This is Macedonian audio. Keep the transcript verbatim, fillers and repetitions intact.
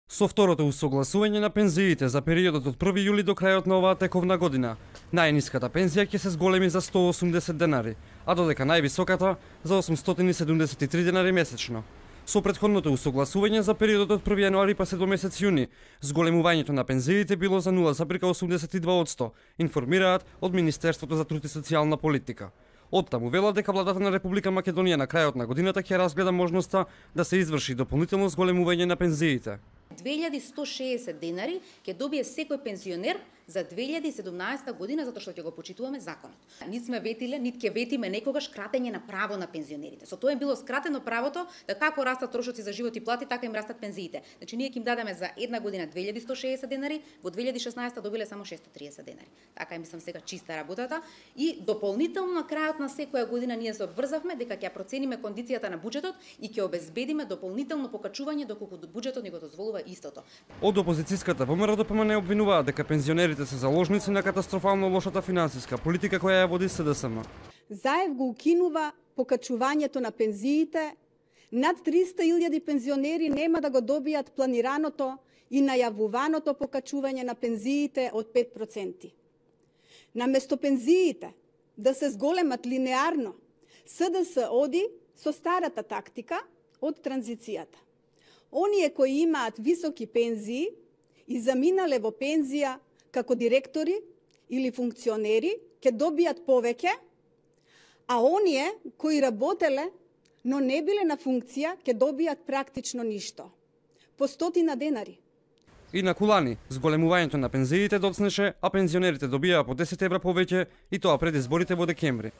Со второто усогласување на пензиите за периодот од први јули до крајот на оваа тековна година, најниската пензија ќе се зголеми за сто и осумдесет денари, а додека највисоката за осумстотини и седумдесет и три денари месечно. Со претходното усогласување за периодот од први јануари па се до месец јуни, зголемувањето на пензиите било за нула запирка осумдесет и два одсто, информираат од Министерството за труд и социјална политика. Оттаму велат дека владата на Република Македонија на крајот на годината ќе разгледа можноста да се изврши дополнително зголемување на пензиите. две илјади сто шеесет денари ќе добие секој пензионер за две илјади и седумнаесета година, затоа што ќе го почитуваме законот. Нит сме ветиле, нит ќе ветиме некогаш кратење на право на пензионерите. Со тоа им било скратено правото да како растат трошоци за живот и плати, така им растат пензиите. Значи ние ќе им дадеме за една година две илјади сто шеесет денари, во две илјади и шеснаесета добиле само шестоу триесет денари. Така е, мислам сега чиста работата и дополнително на крајот на секоја година ние се обврзавме дека ќе процениме кондицијата на буџетот и ќе обезбедиме дополнително покачување доколку буџетот ни го дозволува истото. Од опозицијската ВМРО д П М Н обвинуваат дека пензионерите се заложници на катастрофално лошата финансиска политика која ја води С Д С М. Заев го укинува покачувањето на пензиите. Над триста илјади пензионери нема да го добијат планираното и најавуваното покачување на пензиите од пет проценти. Наместо пензиите да се зголемат линеарно, С Д С оди со старата тактика од транзицијата. Оние кои имаат високи пензии и заминале во пензија како директори или функционери ќе добијат повеќе, а оние кои работеле но не биле на функција ќе добијат практично ништо. По стотина денари. И на Кулани, зголемувањето на пензиите доцнеше, а пензионерите добија по десет евра повеќе и тоа пред изборите во декември.